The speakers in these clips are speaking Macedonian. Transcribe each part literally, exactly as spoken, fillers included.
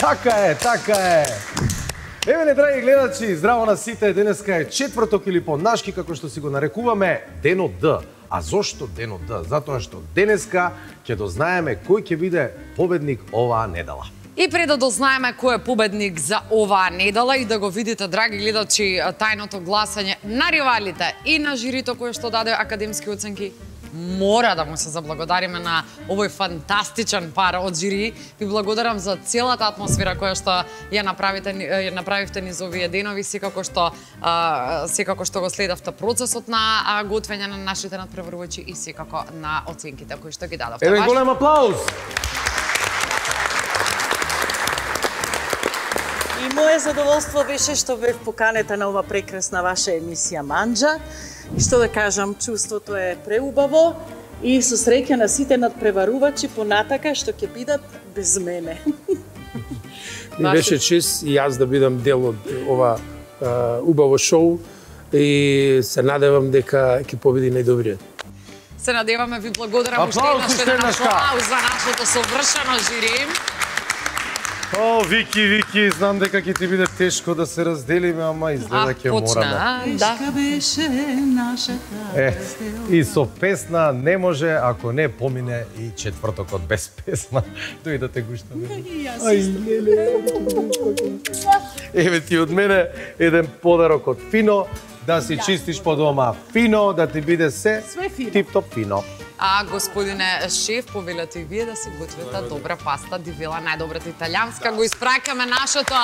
Така е, така е. Еве, драги гледачи, здраво на сите. Денеска е четврток или по-нашки, како што си го нарекуваме, Денот Д. А зошто Денот Д? Затоа што денеска ќе дознаеме кој ќе биде победник оваа недела. И пред да дознаеме кој е победник за оваа недела и да го видите, драги гледачи, тајното гласање на ривалите и на жирито кое што даде академски оценки, мора да му се заблагодариме на овој фантастичен пар од жири. Ви благодарам за целата атмосфера која што ја направите, ја направивте низ овие денови, секако што а, секако што го следавте процесот на а, готвење на нашите надпреварувачи и секако на оценките кои што ги дадовте. Еве голем аплауз. И мое задоволство беше што бев поканета на ова прекрасна ваша емисија Манџа. И што да кажам, чувството е преубаво и со среќа на сите надпреварувачи понатака што ќе бидат без мене. Ми беше чест и јас да бидам дел од ова а, убаво шоу и се надевам дека ќе победи најдобриот. Се надеваме, ви благодарам уште еднаш аплауз за нашето совршено жири. О, Вики, Вики, знам дека ќе ти биде тешко да се разделиме, ама изгледа ќе мораме. Тешка беше нашата Е, и со песна не може, ако не помине и четвртокот без песна. Дојдете гуштаме. Еве ти од мене еден подарок од Фино, да си чистиш по дома фино, да ти биде се тип-топ фино. А, господине шеф, повелете и вие да си готвите добра паста, дивела, најдобрата италијанска. Го испраќаме нашето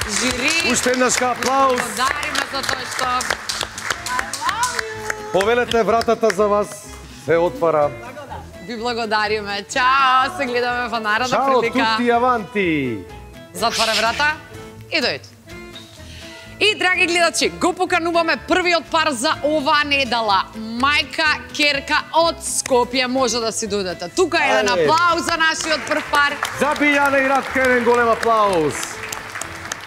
жири. Уште еднаш аплауз. Благодариме за тоа што... Повелете, вратата за вас се отвара. Ви благодариме. Чао, се гледаме во наредна прилика. Чао, тути аванти. Затвара врата и дојде. И, драги гледачи, го покануваме првиот пар за оваа недела. Мајка Керка од Скопје, може да си дојдете. Тука е еден аплауз за нашиот прв пар. За Билјана и Радка еден голем аплауз.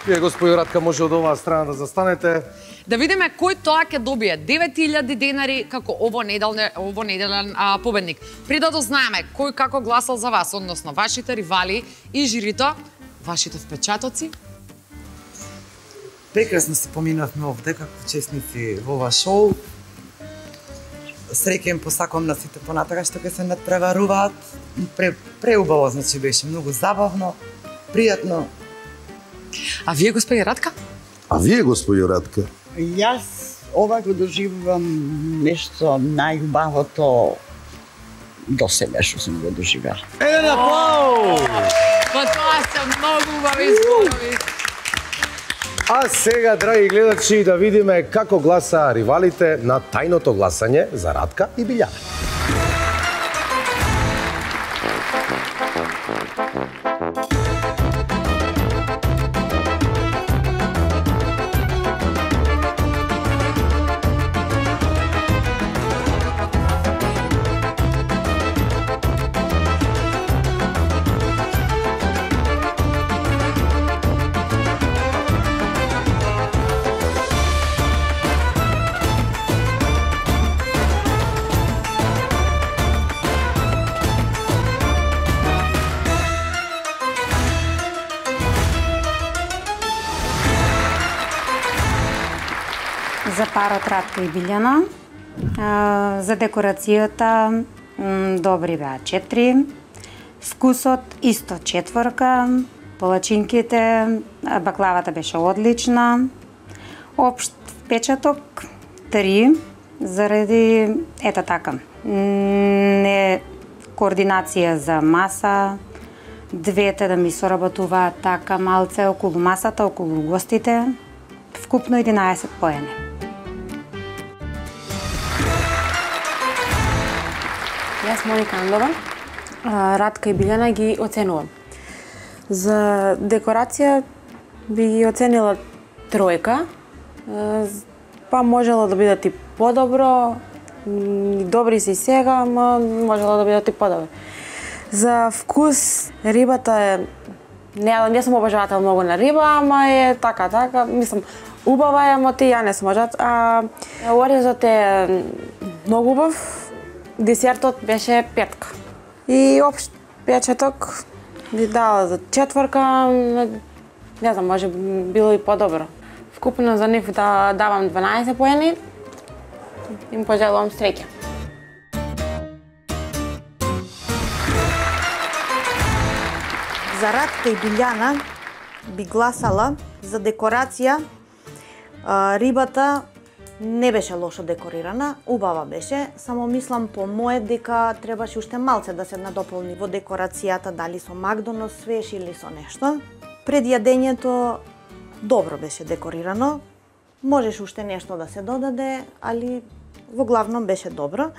Вие, господи Радка, може од оваа страна да застанете. Да видиме кој тоа ќе добие девет илјади денари како ово неделне, ово неделен а, победник. Пред да дознаеме кој како гласал за вас, односно вашите ривали и жирито, вашите впечатоци. Прекрасно се поминавме овде како учесници во ова шоу. Среќа им посакувам на сите понатака што ќе се надпреваруваат. Пре, преубаво, значи беше многу забавно, пријатно. А вие, господи Радка? А вие, господи Радка? Јас ова го доживувам нешто најубавото до сега што сум го доживела. Еден аплауз! Па тоа се многу убави зборови. А сега, драги гледачи, да видиме како гласа ривалите на тајното гласање за Радка и Билјана. За парот Радка и Билјана, за декорацијата добри беа четири, вкусот исто четворка, палачинките, баклавата беше одлична, општ впечаток три, заради ета така, не координација за маса, двете да ми соработуваат така малце околу масата, околу гостите, вкупно единаесет поени. Јас, Моника Андова, Радка и Билјана ги оценувам. За декорација би ги оценила тројка, па можело да бидат и подобро, добри си сега, ама можело да бидат и подобри. За вкус, рибата е, не, не сум обожавател многу на риба, ама е така, така, мислам, убава е, ама ти ја не сум обожавател. А орезот е многу убав, десертот беше петка. И општ печаток би дала за четворка, не знам, може било и подобро. Вкупно за нив да давам дванаесет поени, им пожелувам среќа. За Радка и Билјана би гласала за декорација. Рибата не беше лошо декорирана, убава беше, само мислам по мое дека требаше уште малце да се надополни во декорацијата, дали со Макдонос свеж или со нешто. Пред јадењето добро беше декорирано, можеше уште нешто да се додаде, али во главном беше добро.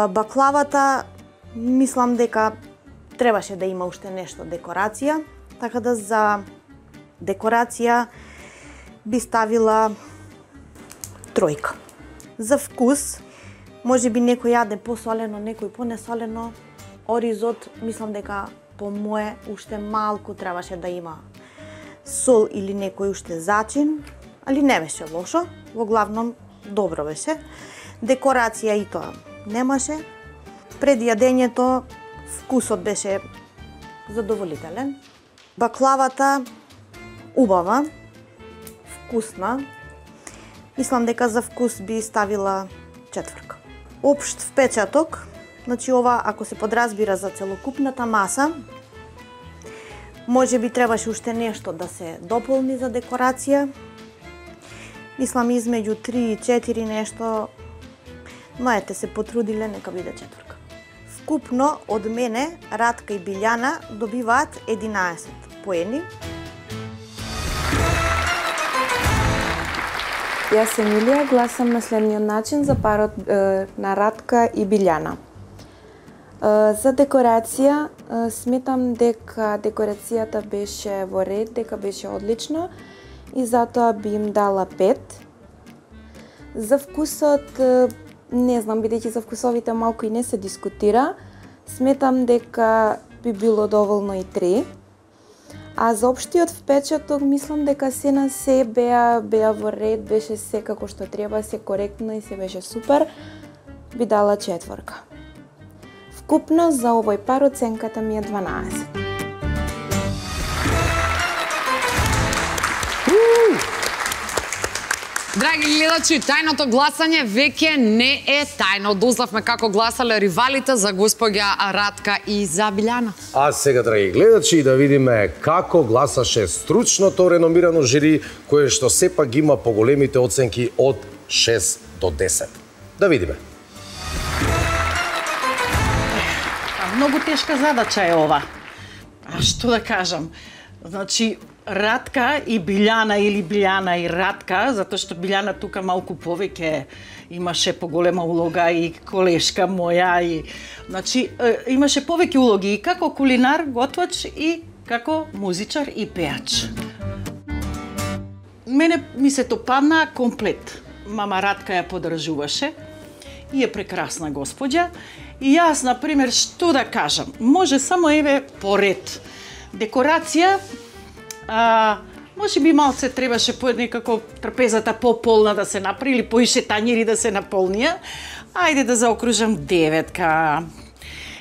Баклавата мислам дека требаше да има уште нешто декорација, така да за декорација би ставила тројка. За вкус, може би некој јаде посолено, некој понесолено. Оризот, мислам дека по мое уште малку требаше да има сол или некој уште зачин, али не беше лошо, во главном добро беше. Декорација и тоа немаше. Пред јадењето вкусот беше задоволителен. Баклавата убава, вкусна. Мислам дека за вкус би ставила четворка. Општ впечаток, значи ова ако се подразбира за целокупната маса, може би требаше уште нешто да се дополни за декорација. Мислам измеѓу три и четири нешто, мајте се потрудиле, нека биде четворка. Вкупно од мене Радка и Билјана добиваат единаесет поени. Јас Емилија гласам на следниот начин за парот е, на Радка и Билјана. Е, за декорација е, сметам дека декорацијата беше во ред, дека беше одлична и затоа би им дала пет. За вкусот е, не знам, бидејќи за вкусовите малку и не се дискутира, сметам дека би било доволно и три. А за општиот впечаток, мислам дека се на се беа, беа во ред, беше се како што треба, се коректно и се беше супер, би дала четворка. Вкупно за овој пар оценката ми е дванаесет. Драги гледачи, тајното гласање веќе не е тајно. Дознавме како гласале ривалите за господја Радка и за Билјана. А сега, драги гледачи, да видиме како гласаше стручното реномирано жири, кое што сепак ги има поголемите оценки од шест до десет. Да видиме. Многу тешка задача е ова. А што да кажам? Значи, Радка и Билјана или Билјана и Радка, затоа што Билјана тука малку повеќе имаше поголема улога и колешка моја и значи имаше повеќе улоги и како кулинар, готвач и како музичар и пеач. Мене ми се допадна комплет. Мама Радка ја подржуваше и е прекрасна господја и јас на пример што да кажам, може само еве поред. Декорација А, може би малце требаше по некако трапезата пополна да се направи или поише тањери да се наполнија. Ајде да заокружам деветка.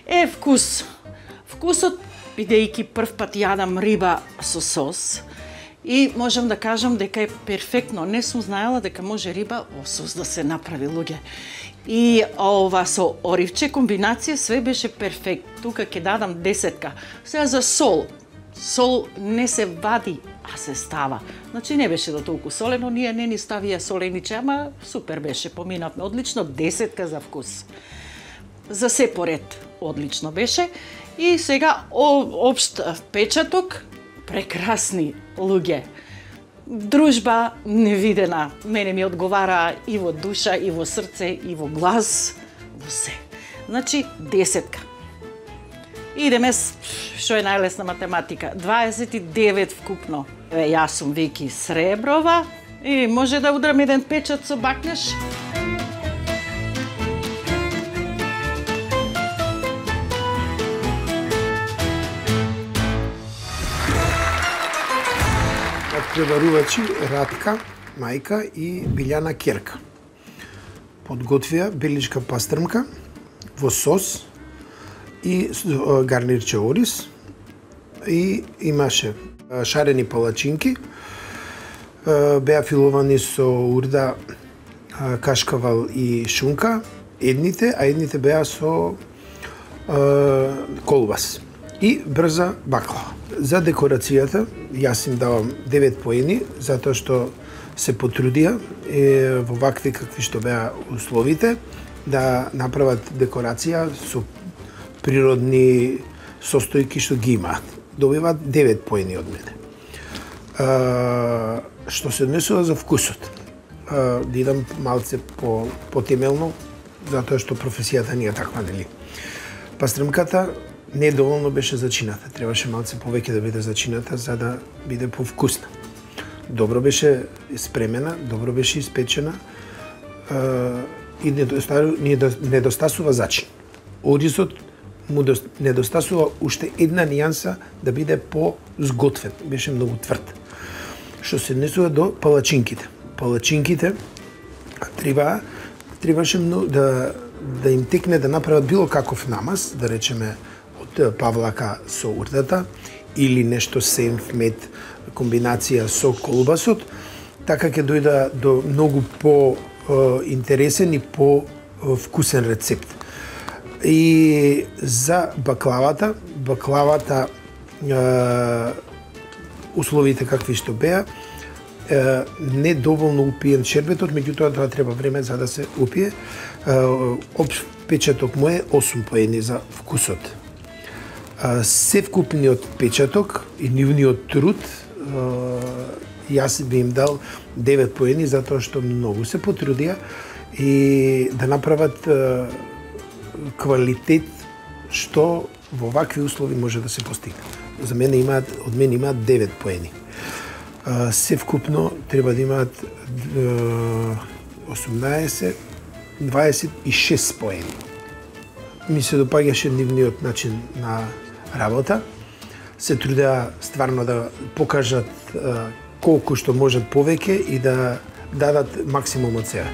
Е, вкус. Вкусот, бидејќи прв пат јадам риба со сос, и можам да кажам дека е перфектно. Не сум знаела дека може риба во сос да се направи, луѓе. И ова со оривче комбинација све беше перфект. Тука ќе дадам десетка. Сега за сол. Сол не се вади, а се става. Значи не беше до толку солено, ние не ни ставија солениче, ама супер беше, поминавме одлично, десетка за вкус. За се поред одлично беше. И сега општ впечаток, прекрасни луѓе. Дружба невидена, мене ми одговара и во душа, и во срце, и во глас, во се. Значи десетка. Идеме, што е најлесна математика, дваесет и девет вкупно. Еве, јас сум Вики Среброва и може да удрам еден печат со бакљаш. Преварувачи Радка, мајка и Билјана ќерка. Подготвија беличка пастрмка во сос и гарнирче ориз и имаше шарени палачинки, беа филовани со урда, кашкавал и шунка, едните, а едните беа со колбас и брза баклава. За декорацијата јас им давам девет поени, затоа што се потрудија е, во вакви какви што беа условите да направат декорација со природни состојки што ги имаат. Добиваат девет поени од мене. А, што се однесува за вкусот. А, да идам малце по потемелно, затоа што професијата ни е таква, нели? Пастремката недоволно беше зачината. Требаше малце повеќе да биде зачината за да биде повкусна. Добро беше спремена, добро беше испечена и недостасува зачин. Оризот му недостасува уште една нијанса да биде по-зготвен. Беше многу тврд. Што се однесува до палачинките. Палачинките треба требаше да да им текне да направат било каков намаз, да речеме од павлака со урдата или нешто сенф мед комбинација со колбасот, така ќе дојда до многу по интересен и по вкусен рецепт. И за баклавата, баклавата условите какви што беа, не доволно упиен шербетот, меѓутоа тоа треба време за да се упие. Општ печаток му е осум поени за вкусот. Севкупниот печаток и нивниот труд јас би им дал девет поени затоа што многу се потрудија и да направат квалитет што во вакви услови може да се постигне. За мене имаат, од мене имаат девет поени. Севкупно треба да имаат осумнаесет, дваесет и шест поени. Ми се допаѓаше нивниот начин на работа. Се трудеа стварно да покажат колку што можат повеќе и да дадат максимум од себе.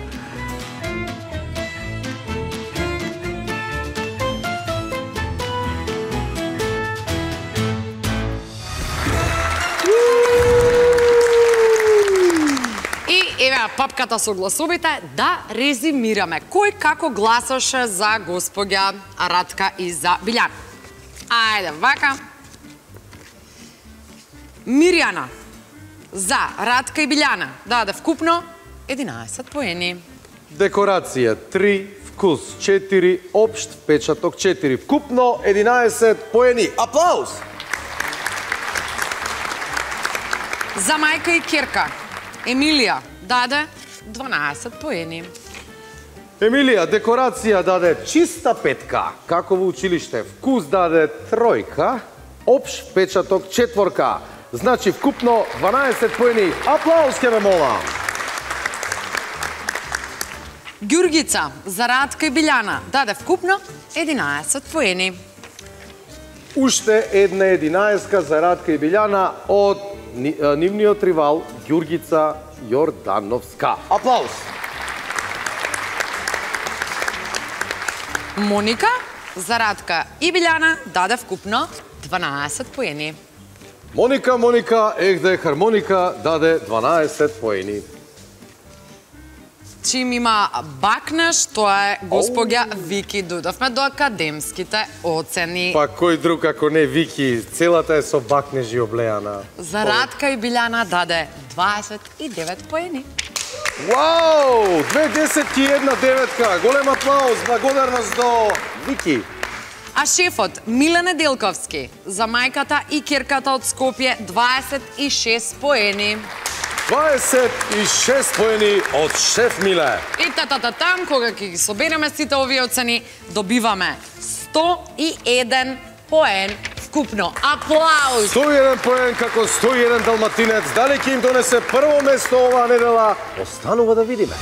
Папката со гласовите, да резимираме. Кој како гласаше за господја Радка и за Билјана? Ајде, вака. Мирјана за Радка и Билјана даде вкупно единаесет поени. Декорација три, вкус четири, општ впечаток четири. Вкупно единаесет поени. Аплауз! За мајка и керка Емилија даде дванаесет поени. Емилија, декорација даде чиста петка. Како во училиште, вкус даде тројка, општ печаток четворка. Значи вкупно дванаесет поени. Аплауз ке ме молам. Ѓургица за Радка и Билјана даде вкупно единаесет поени. Уште една единаеска за Радка и Билјана од нивниот ривал Ѓургица Јордановска. Аплауз! Моника за Радка и Билјана даде вкупно дванаесет поени. Моника, Моника, ехде хармоника даде дванаесет поени. Чим има бакнеш, тоа е господја Вики. Дојдовме до академските оцени. Па кој друг ако не Вики, целата е со бакнежи облеана. За Радка и Билјана даде дваесет и девет поени. Вау! Две десетки и една деветка. Голем аплауз, благодарност до Вики. А шефот Миле Неделковски за мајката и керката од Скопје дваесет и шест поени. дваесет и шест поени од шеф Миле. И та-та-та-там, кога ќе ги собереме сите овие оцени, добиваме сто и еден поен вкупно. Аплауз! сто и еден поен како сто и еден далматинец. Дали ќе им донесе прво место оваа недела? Останува да видиме.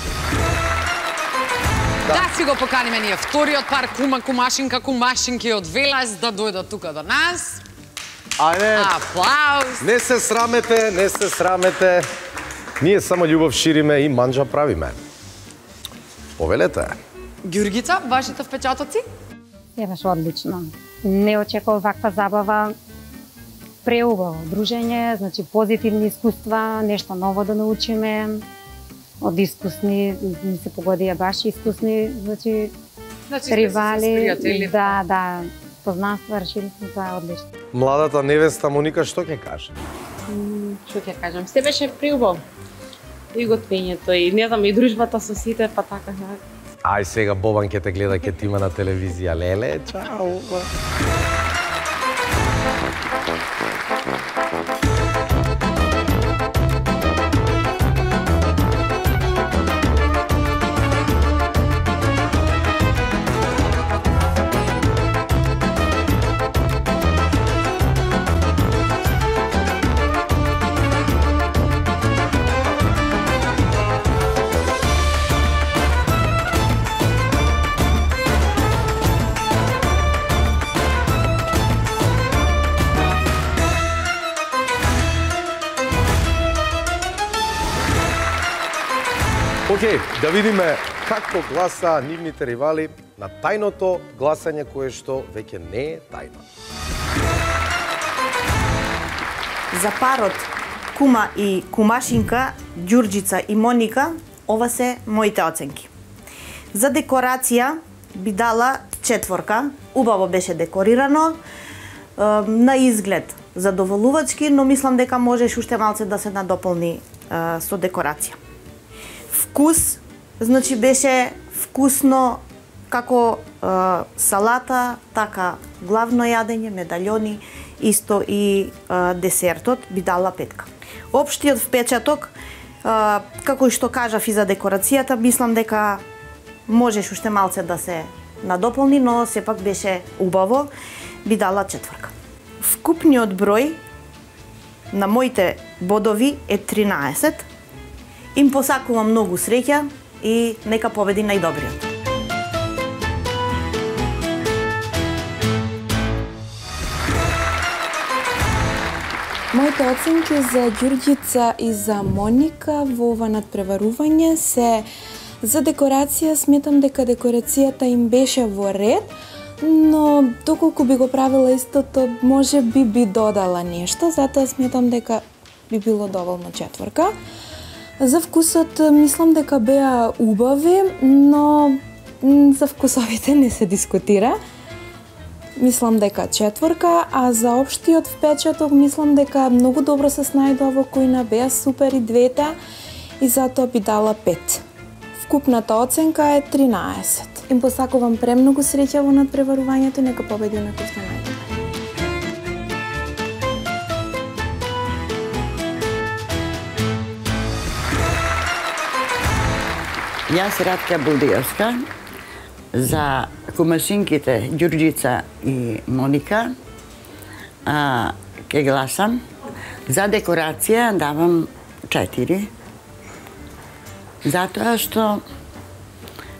Да, да си го поканиме ние вториот пар кума, кумашинка, кумашинки од Велес да дојдат тука до нас. Ајде. Аплауз! Не се срамете, не се срамете. Ние само љубов шириме и манџа правиме. Повелете. Ѓургица, вашите впечатоци? Е, беше одлично. Не очекував ваква забава. преубаво дружење, значи позитивни искуства, нешто ново да научиме од искусни, ми се погодија баш искусни, значи, значи ривали, да, да, познанства, решили сме, тоа е одлично. Младата невеста Моника што ќе каже? Што ќе кажам, се беше преубаво. И готвењето, и не знам, и дружбата со сите, па така. Ај сега Бобан ќе те гледа, ќе ти има на телевизија. Леле, чао. Океј, да видиме како гласа нивните ривали на тајното гласање кое што веќе не е тајно. За парот кума и кумашинка, Ѓурџица и Моника, ова се моите оценки. За декорација би дала четворка, убаво беше декорирано, на изглед задоволувачки, но мислам дека можеш уште малце да се надополни со декорација. Вкус, значи беше вкусно како е, салата, така главно јадење, медальони, исто и е, десертот би дала петка. Општиот впечаток, е, како и што кажав и за декорацијата, мислам дека можеш уште малце да се надополни, но сепак беше убаво, би дала четворка. Вкупниот број на моите бодови е тринаесет. Им посакувам многу среќа и нека победи најдобриот. Моите оценки за Ѓурџица и за Моника во ова надпреварување се за декорација. Сметам дека декорацијата им беше во ред, но доколку би го правила истото, може би би додала нешто, затоа сметам дека би било доволно четворка. За вкусот мислам дека беа убави, но за вкусовите не се дискутира. Мислам дека четворка, а за општиот впечаток мислам дека многу добро се снајдоа во кујна, беа супер и двете и затоа би дала пет. Вкупната оценка е тринаесет. Им посакувам премногу среќа во надпреварувањето, нека победи на кој што најдобар. Јас Ратка Булдиевска, за кумашинките Ѓурџица и Моника а, ке гласам. За декорација давам четири. Затоа што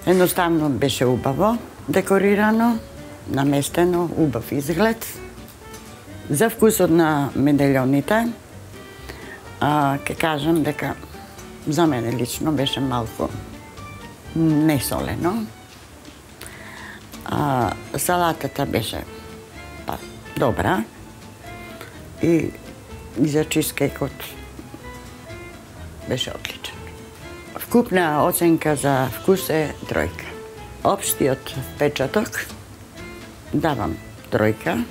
едноставно беше убаво декорирано, наместено, убав изглед. За вкусот на медальоните а, ке кажам дека за мене лично беше малку несолено. А, салатата беше па, добра и, и за чизкейкот беше одличен. Вкупна оценка за вкус е тројка. Општиот впечаток давам тројка,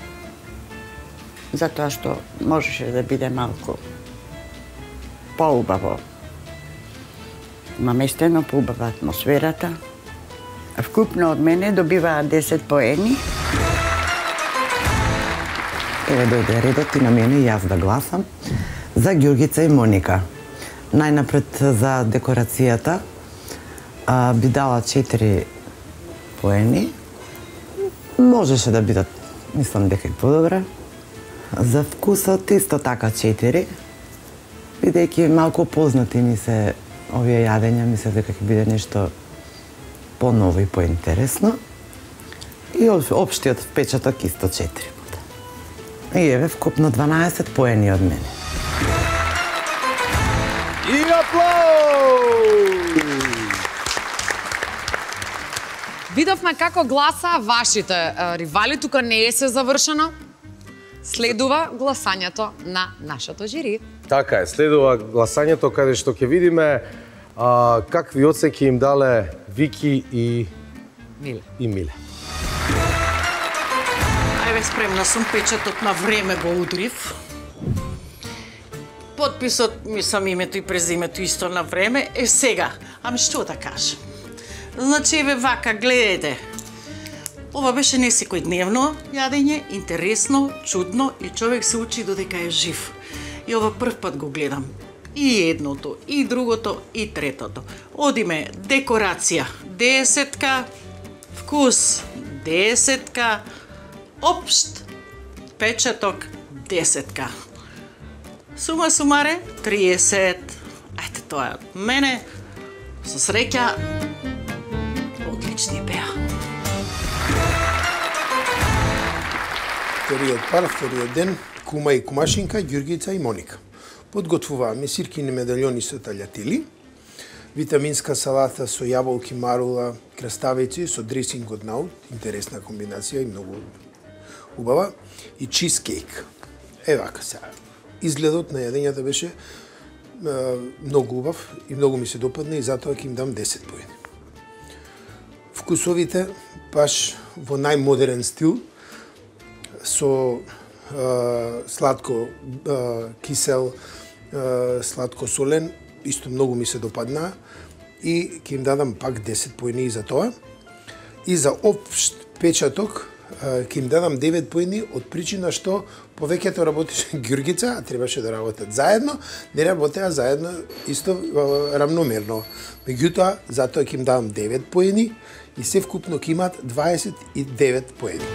затоа што можеше да биде малку поубаво наместено, поубава атмосферата. Вкупно од мене добиваа десет поени. Еве дојде редот и на мене и јас да гласам за Ѓурѓица и Моника. Најнапред за декорацијата а, би дала четири поени. Можеше да бидат, мислам дека и подобра. За вкусот исто така четири. Бидејќи малку познати ми се овие јадења, мислам дека ќе биде нешто поново и поинтересно. И општиот впечаток исто четири. И еве вкупно дванаесет поени од мене. И аплауз! Видовме како гласа вашите ривали, тука не е се завршено. Следува гласањето на нашето жири. Така е, следува гласањето каде што ќе видиме а, какви оценки им дале Вики и Миле. И Миле. Ајде, спремна сум, печатот на време го удрив. Подписот, мислам, името и презимето исто на време. Е, сега, ами што да кажам? Значи, еве вака, гледайте. Ова беше не секојдневно јадење, интересно, чудно и човек се учи додека е жив. И ова прв пат го гледам. И едното, и другото, и третото. Одиме, декорација, десетка, вкус, десетка, општ, печаток, десетка. Сума сумаре, триесет. Ајте, тоа е од мене. Со среќа, одлични беа. Вториот пар, вториот ден, кума и кумашинка, Ѓурѓица и Моника. Подготвуваме сиркини медальони со таљатели, витаминска салата со јаболки, марула, краставици со дресинг од наут, интересна комбинација и многу убава, и чизкейк. Е вака сега. Изгледот на јадењата беше е, многу убав и многу ми се допадна и затоа ќе им дам десет поени. Вкусовите баш во најмодерен стил, со е, сладко е, кисел, е, сладко солен, исто многу ми се допадна и ќе им дадам пак десет поени за тоа. И за општ печаток ќе им дадам девет поени од причина што повеќето работеше Ѓурѓица, а требаше да работат заедно, не работеа заедно исто е, равномерно. Меѓутоа, затоа ќе им дадам девет поени и се вкупно ќе имаат дваесет и девет поени.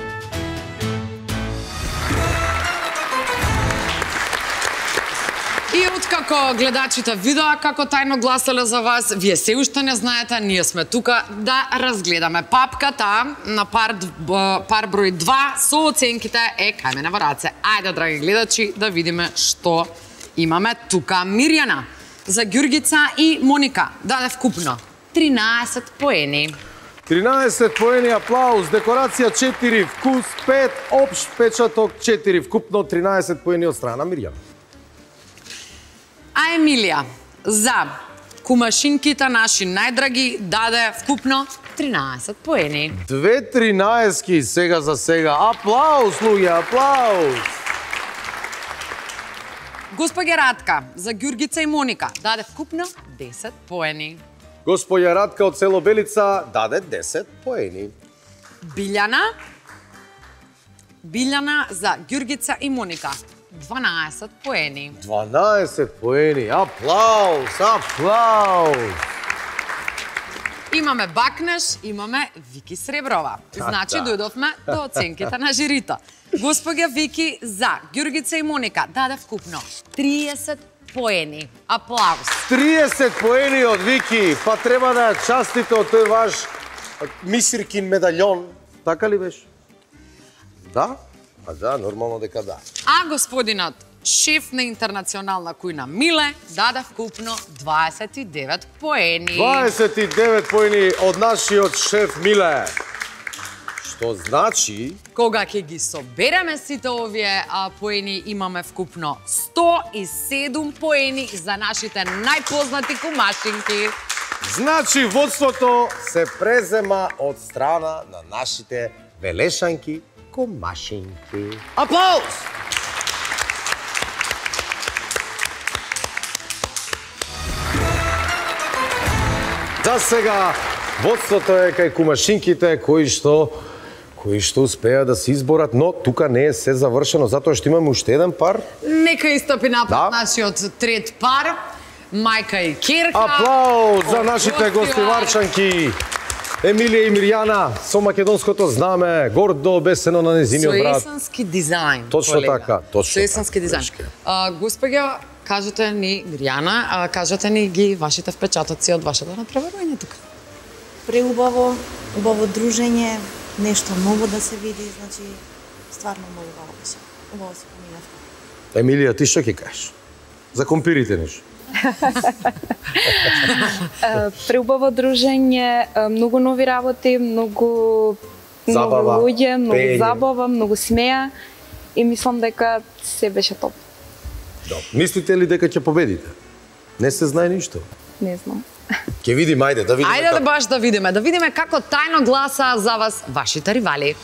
И откако гледачите видоа како тајно гласале за вас, вие се уште не знаете, ние сме тука да разгледаме папката на пар, пар број два со оценките е кај мене во раце. Ајде, драги гледачи, да видиме што имаме тука. Мирјана за Ѓурѓица и Моника даде вкупно тринаесет поени. тринаесет поени, аплауз, декорација четири, вкус пет, општ печаток четири, вкупно тринаесет поени од страна на Мирјана. А Емилија за кумашинките наши најдраги даде вкупно тринаесет поени. Две тринаески сега за сега. Аплауз, луѓе, аплауз! Госпоѓа Радка за Ѓурѓица и Моника даде вкупно десет поени. Господја Радка од село Белица даде десет поени. Билјана Билјана за Ѓурѓица и Моника дванаесет поени. дванаесет поени. Аплауз, аплауз! Имаме бакнеш, имаме Вики Среброва. Значи, да. дојдовме до оценките на жирито. Господја Вики за Ѓурѓица и Моника даде вкупно триесет поени. Аплауз. триесет поени од Вики, па треба да ја частите од тој ваш мисиркин медальон. Така ли беше? Да? А да, нормално дека да. А господинот шеф на интернационална кујна Миле даде вкупно дваесет и девет поени. дваесет и девет поени од нашиот шеф Миле. Што значи... Кога ќе ги собереме сите овие а, поени, имаме вкупно сто и седум поени за нашите најпознати кумашинки. Значи, водството се презема од страна на нашите велешанки кумашинки. Аплауз! За сега, водството е кај кумашинките кои што кои што успеа да се изборат, но тука не е се завршено, затоа што имаме уште еден пар. Нека истопи напред Да. нашиот трет пар, мајка и Керка. Аплауз за од нашите гостивар. гостиварчанки. Емилија и Мирјана со македонското знаме, гордо обесено на незиниот Со брат. есенски дизајн. Точно колега. така, точно Со есенски така, дизајн. дечки. А, Господја, кажете ни, Мирјана, а, кажете ни ги вашите впечатоци од вашето натпреварување тука. Преубаво, убаво дружење, нешто ново да се види, значи стварно многу убаво беше. Убаво се поминав. Емилија, ти што ќе кажеш? За компирите нешто. Преубаво дружење, многу нови работи, многу Забава, нови луѓе, многу пеење. забава, многу смеа и мислам дека се беше топ. Добро. Мислите ли дека ќе победите? Не се знае ништо. Не знам. Ќе видиме, ајде да видиме. Ајде да баш да видиме, да видиме како тајно гласа за вас вашите ривали.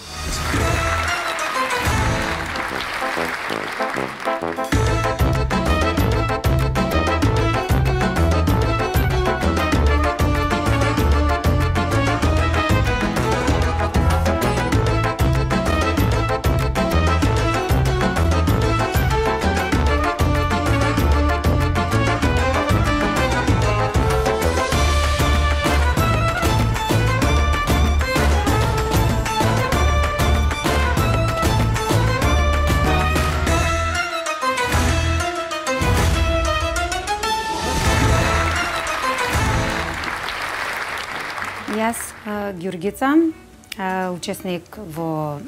Јас, Ѓургица, учесник во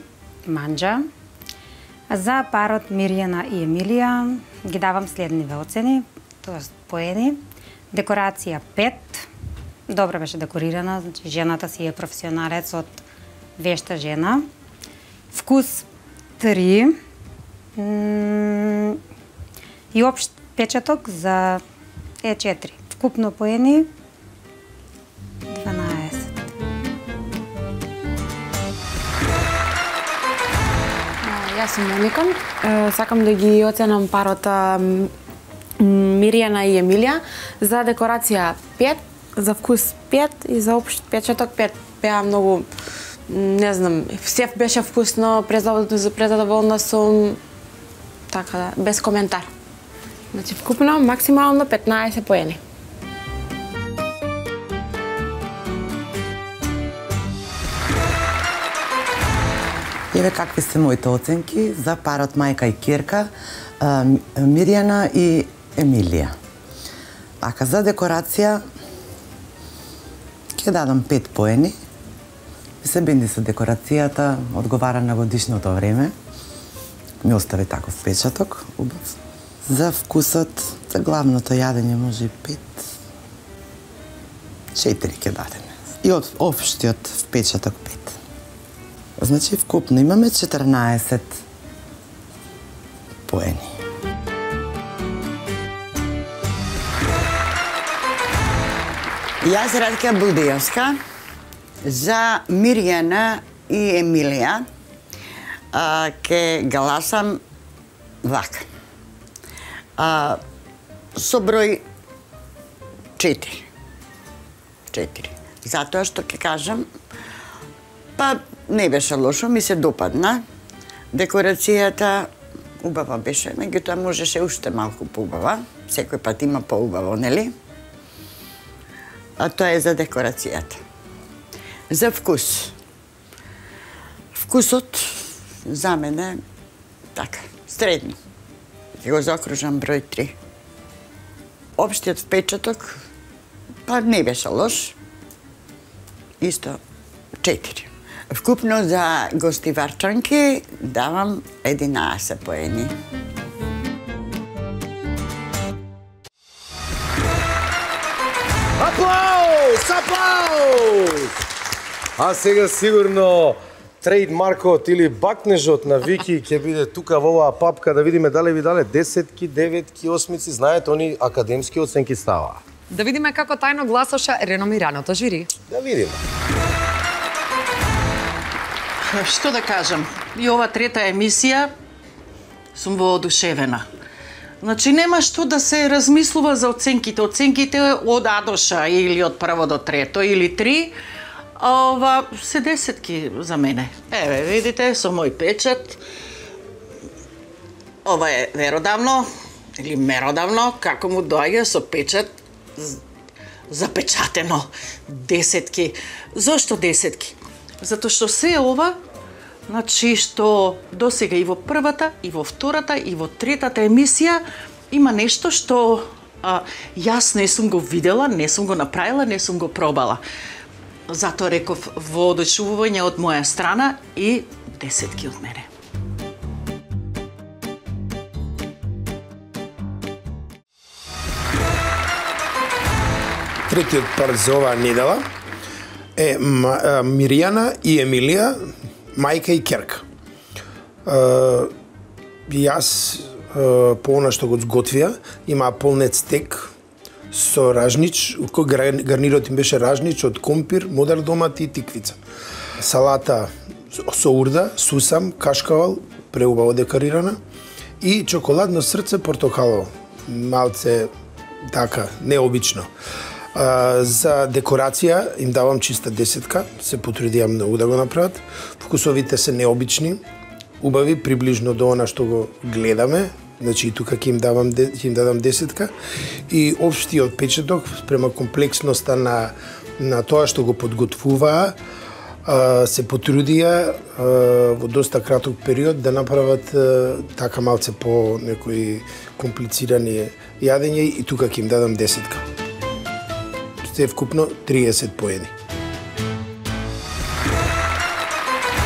Манџа. За парот Мирјана и Емилија ги давам следниве оцени, тоест поени. Декорација пет, добро беше декорирана, значи жената си е професионалец од вешта жена. Вкус три. И општ печаток за е четири. Вкупно поени дванаесет. Јас сум Моника. Сакам да ги оценам парота Мирјана и Емилија. За декорација пет, за вкус пет и за општ печаток пет. Беа многу, не знам, сев беше вкусно, презадоволна сум, така да, без коментар. Значи вкупно максимално петнаесет поени. Еве какви се моите оценки за парот мајка и ќерка, Мирјана и Емилија. Ака за декорација ќе дадам пет поени. Се бенди со декорацијата, одговара на годишното време. Ми остави таков печаток, убав. За вкусот, за главното јадење може и пет. четири ќе дадеме. И од општиот впечаток пет. Значи, вкупно имаме четрнаесет поени. Јас Радка Будијовска за Мирјана и Емилија а, ке гласам вака. А, со број четири. четири. Затоа што ќе кажам, па не беше лошо, ми се допадна. Декорацијата убава беше, меѓутоа можеше уште малку поубава. Секој пат има поубаво, нели? А тоа е за декорацијата. За вкус. Вкусот за мене така, средно. Ќе го закружам број три. Општиот впечаток па не беше лош. Исто четири. Вкупно за гостиварчанки давам единаесет поени. Аплауз! Аплауз! А сега сигурно трейдмаркот или бакнежот на Вики ќе биде тука во оваа папка да видиме дали ви дале десетки, деветки, осмици, знаете, они академски оценки става. Да видиме како тајно гласаше реномираното жири. Да видиме. Што да кажам, и ова трета емисија сум воодушевена. Значи нема што да се размислува за оценките. Оценките од А до Ш или од прво до трето или три, а ова се десетки за мене. Еве, видите, со мој печат. Ова е веродавно или меродавно, како му доаѓа со печат запечатено. Десетки. Зошто десетки? Затоа што се ова, значи што досега и во првата, и во втората, и во третата емисија има нешто што а, јас не сум го видела, не сум го направила, не сум го пробала. Затоа реков воодушевување од моја страна и десетки од мене. Третиот пар за оваа недела е Мирјана и Емилија, мајка и ќерка. Јас по она што го зготвија, има полнет стек со ражнич, кој гарнирот им беше ражнич од компир, модар домат и тиквица. Салата со урда, сусам, кашкавал, преубаво декорирана и чоколадно срце портокалово. Малце така, необично. А, за декорација им давам чиста десетка, се потрудија многу да го направат. Вкусовите се необични, убави, приближно до она што го гледаме, значи и тука ќе им давам ќе им дадам десетка. И општиот печаток спрема комплексноста на на тоа што го подготвуваа, се потрудија во доста краток период да направат така малце по некои комплицирани јадења и тука ќе им дадам десетка. Се вкупно триесет поени.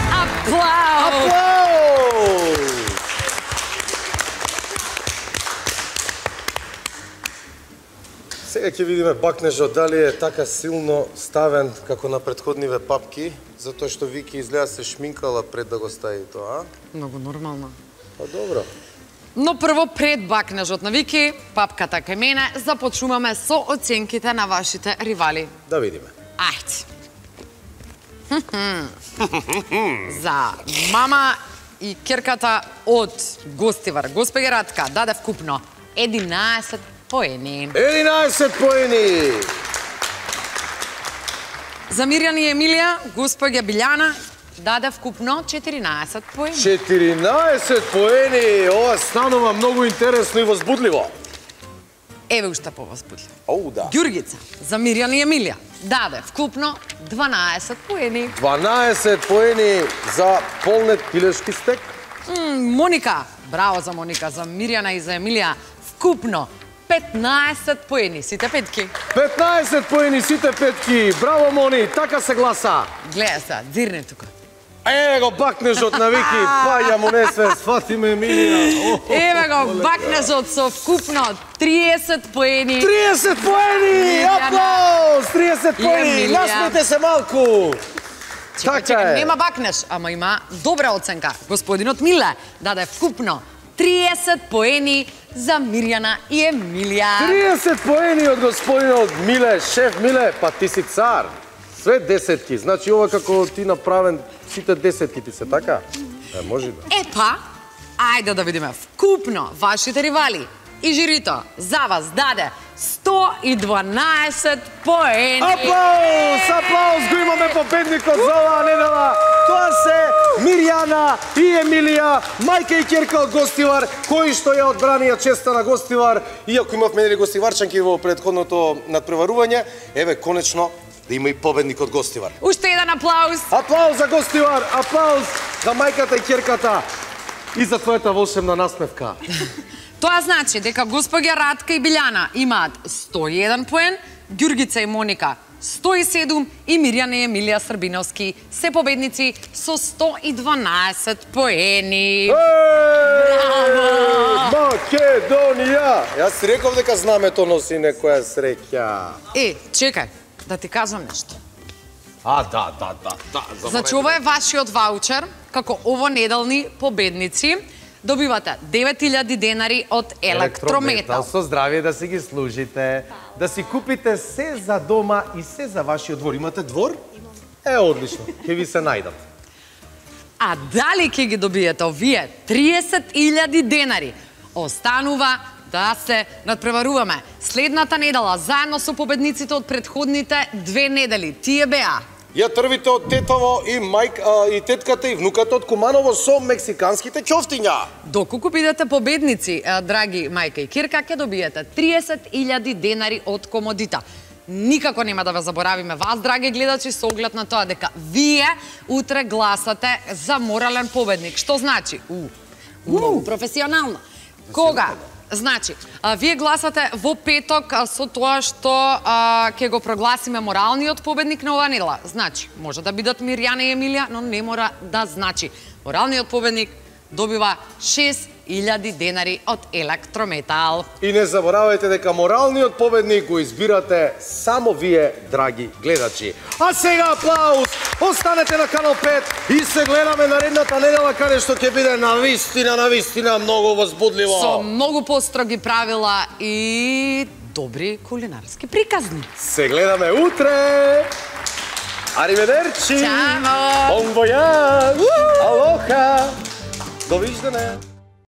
Аплауз! Аплауз! Сега ќе видиме бакнежот дали е така силно ставен како на претходниве папки, затоа што Вики изгледа се шминкала пред да го стави тоа, а? Многу нормално. Па добро. Но прво пред бакнежот на Вики, папката кај мене, започнуваме со оценките на вашите ривали. Да видиме. Ајде. За мама и керката од Гостивар, госпоѓа Радка, даде вкупно единаесет поени. единаесет поени! За Мирјана и Емилија, госпоѓа Билјана, даде вкупно четиринаесет поени. четиринаесет поени! Ова станува многу интересно и возбудливо. Еве уште повозбудливо. Оу, да. Ѓургица, за Мирјана и Емилија, даде вкупно дванаесет поени. дванаесет поени за полнет пилешки стек. М, Моника, браво за Моника, за Мирјана и за Емилија, вкупно петнаесет поени, сите петки. петнаесет поени, сите петки. Браво, Мони, така се гласа. Гледа се, дзирне тука. Еве го бакнежот на Вики, паја му несвес, фати ме Емилија. Еве го бакнежот со вкупно триесет поени. триесет поени! Аплауз! триесет поени! Насмете се малку! Така е. Нема бакнеж, ама има добра оценка. Господинот Миле даде вкупно триесет поени за Мирјана и Емилија. триесет поени од господинот Миле, шеф Миле, па ти си цар. Све десетки, значи ова како ти направен, сите десетки ти се, така? Е, може да. Епа, ајде да видиме вкупно вашите ривали. И жирито за вас даде сто и дванаесет поени. Аплауз, аплауз, го имаме победникот за оваа недела. Тоа се Мирјана и Емилија, мајка и ќерка од Гостивар, кои што ја одбранија честа на Гостивар, иако имавме нели гостиварчанки во претходното надпреварување, еве конечно да има и победник од Гостивар. Уште еден аплауз. Аплауз за Гостивар, аплауз за мајката и ќерката и за твојата волшебна насмевка. Тоа значи дека госпоѓа Радка и Билјана имаат сто и еден поен, Ѓургица и Моника сто и седум и Мирјана и Емилија Србиновски се победници со сто и дванаесет поени. Браво! Македонија! Јас реков дека знамето носи некоја среќа. Е, чекај, да ти кажам нешто. А, да, да, да, да. Значи, ова е вашиот ваучер, како овонеделни победници. Добивате девет илјади денари од Електрометал. Со здравие да си ги служите, да си купите се за дома и се за вашиот двор. Имате двор? Е, одлично, ќе ви се најдат. А дали ќе ги добиете овие триесет илјади денари? Останува да се надпреваруваме. Следната недела, заедно со победниците од претходните две недели. Тие беа Ја трвите од тетово и мајк а, и тетката и внуката од Куманово со мексиканските ќофтиња. Доколку бидете победници, драги мајка и кирка, ќе добиете триесет илјади денари од Комодита. Никако нема да ве заборавиме вас, драги гледачи, со оглед на тоа дека вие утре гласате за морален победник. Што значи? У, многу професионално. Кога? Значи, а, вие гласате во петок а, со тоа што а, ќе го прогласиме моралниот победник на оваа недела. Значи, може да бидат Мирјана и Емилија, но не мора да значи. Моралниот победник добива шест илјади денари од Електрометал. И не заборавајте дека моралниот победник го избирате само вие, драги гледачи. А сега аплауз! Останете на Канал пет и се гледаме наредната недела, каде што ќе биде навистина, навистина многу возбудливо. Со многу построги правила и добри кулинарски приказни. Се гледаме утре! Ариведерчи! Чао! Бон војаж! Алоха! Довиждане!